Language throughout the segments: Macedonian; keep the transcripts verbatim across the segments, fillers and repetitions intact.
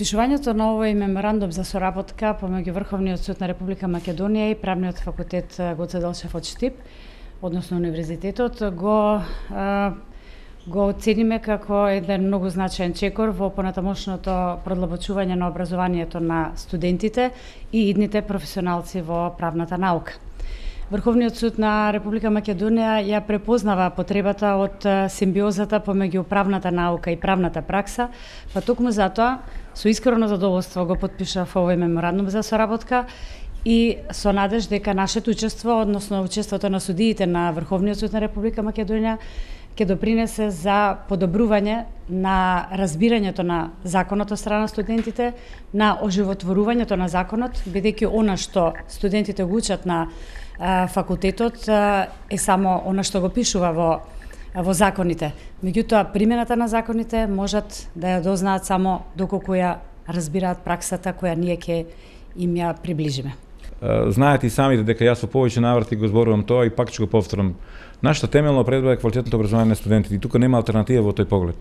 Подпишувањето на овој меморандум за соработка помеѓу Врховниот суд на Република Македонија и Правниот факултет Гоце Делчев од Штип, односно универзитетот, го го оцениме како еден многу значаен чекор во понатамошното продлабочување на образованието на студентите и идните професионалци во правната наука. Врховниот суд на Република Македонија ја препознава потребата од симбиозата помеѓу правната наука и правната пракса, па токму затоа со искрено задоволство го подпишав овој меморандум за соработка и со надеж дека нашето учество, односно учеството на судиите на Врховниот суд на Република Македонија ќе допринесе за подобрување на разбирањето на законот од страна на студентите, на оживотворувањето на законот, бидејќи она што студентите го учат на факултетот е само она што го пишува во во законите. Меѓутоа, примената на законите можат да ја дознаат само доколку ја разбираат праксата која ние ќе им ја приближиме. Знаете и самите дека јас во повеќе наврати го зборувам тоа и пак ќе го повторам. Нашата темелна предба е квалитетното образование на студентите и тука нема алтернатива во тој поглед.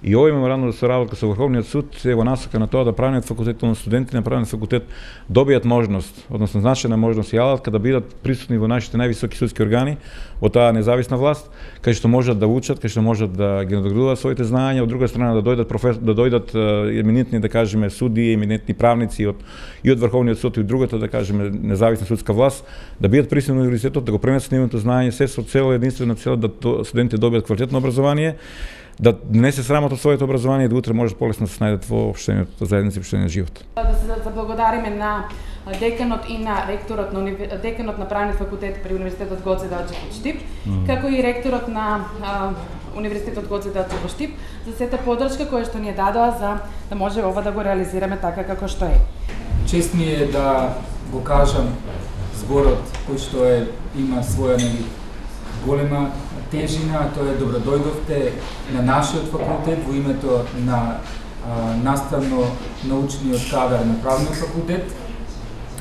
И овој меморандум за соработка со Врховниот суд е во насока на тоа да Правниот факултет, на студентите на Правниот факултет добијат можност, односно значајна можност и алатка да бидат присутни во нашите највисоки судски органи, во таа независна власт, кај што можат да учат, кај што можат да ги надградуваат своите знаења, од друга страна да дојдат професор, да дојдат еминентни, да кажеме, судии, еминентни правници од и од Врховниот суд и од другата, да кажеме, независна судска власт, да бидат присутни во универзитетот, да го пренесат нивното знаење, се со цел единствена цел да студентите добијат квалитетно образование, да не се срамат од своето образование и да утре можат полесно да се најдат во општеното заедница и општениот живот. Да се заблагодариме на деканот и на ректорот на универ... деканот на Правниот факултет при Универзитетот Гоце Делчев од Штип, mm. како и ректорот на а, Универзитетот Гоце Делчев од Штип за сета подршка која што ни ја дадоа за да може ова да го реализираме така како што е. Чест ми е да го кажам зборот кој што е има своја нели голема тежина, тоа е добродојдовте на нашиот факултет во името на наставно-научниот кадар на Правниот факултет.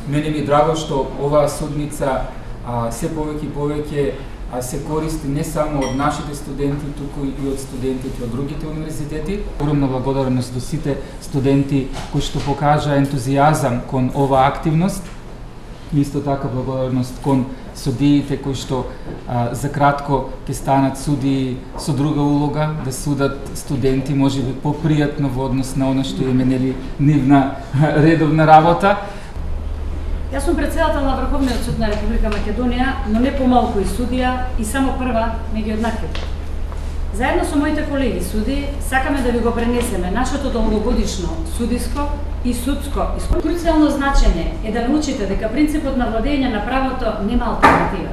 Мене ми е драго што оваа судница а, се повеќе и повеќе а, се користи не само од нашите студенти, туку и од студентите од другите универзитети. Огромна благодарност до сите студенти кои што покажа ентузијазам кон оваа активност. Исто така благодарност кон судиите кои што а, за кратко ќе станат судии со друга улога, да судат студенти можеби попријатно во однос на она што им е нели нивна редовна работа. Јас сум претседател на Врховниот суд на Република Македонија, но не помалку и судија и само прва меѓу еднаквите. Заедно со моите колеги суди сакаме да ви го пренесеме нашето долгогодишно судиско и судско искуство. Круцијално значење е да научите дека принципот на владење на правото нема алтернатива.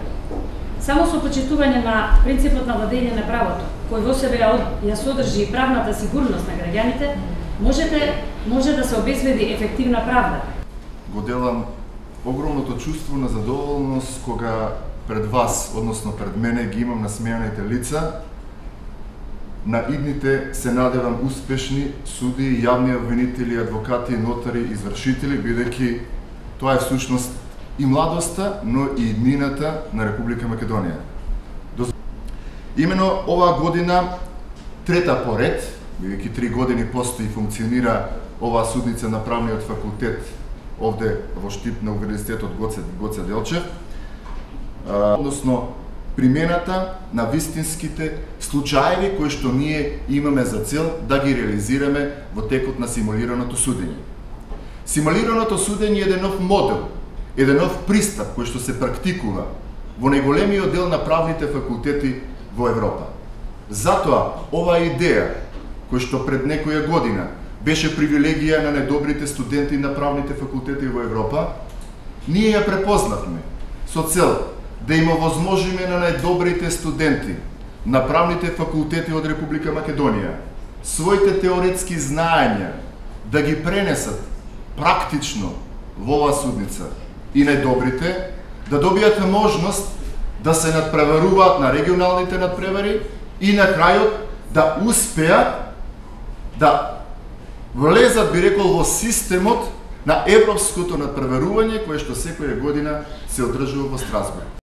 Само со почитување на принципот на владење на правото, кој во себе ја содржи и правната сигурност на граѓаните, можете може да се обезбеди ефективна правда. Го делам огромното чувство на задоволност кога пред вас, односно пред мене, ги имам насмеаните лица. На идните се надевам успешни суди, јавни обвинители, адвокати, нотари, извршители, бидејќи тоа е всушност и младоста, но и иднината на Република Македонија. Имено оваа година, трета поред, бидејќи три години постои и функционира оваа судница на Правниот факултет овде во Штип на Универзитетот Гоце, Гоце Делчев, односно примената на вистинските случаеви кои што ние имаме за цел да ги реализираме во текот на симулираното судење. Симулираното судење е еден нов модел, еден нов пристап кој што се практикува во најголемиот дел на правните факултети во Европа. Затоа оваа идеја кој што пред некоја година беше привилегија на најдобрите студенти на правните факултети во Европа, ние ја препознавме со цел да им овозможиме на најдобрите студенти на правните факултети од Република Македонија своите теоретски знаења да ги пренесат практично во оваа судница и најдобрите да добијат можност да се надпреваруваат на регионалните надпревари и на крајот да успеат да влезат, би рекол, во системот на европското надпреварување кое што секоја година се одржува во Страсбург.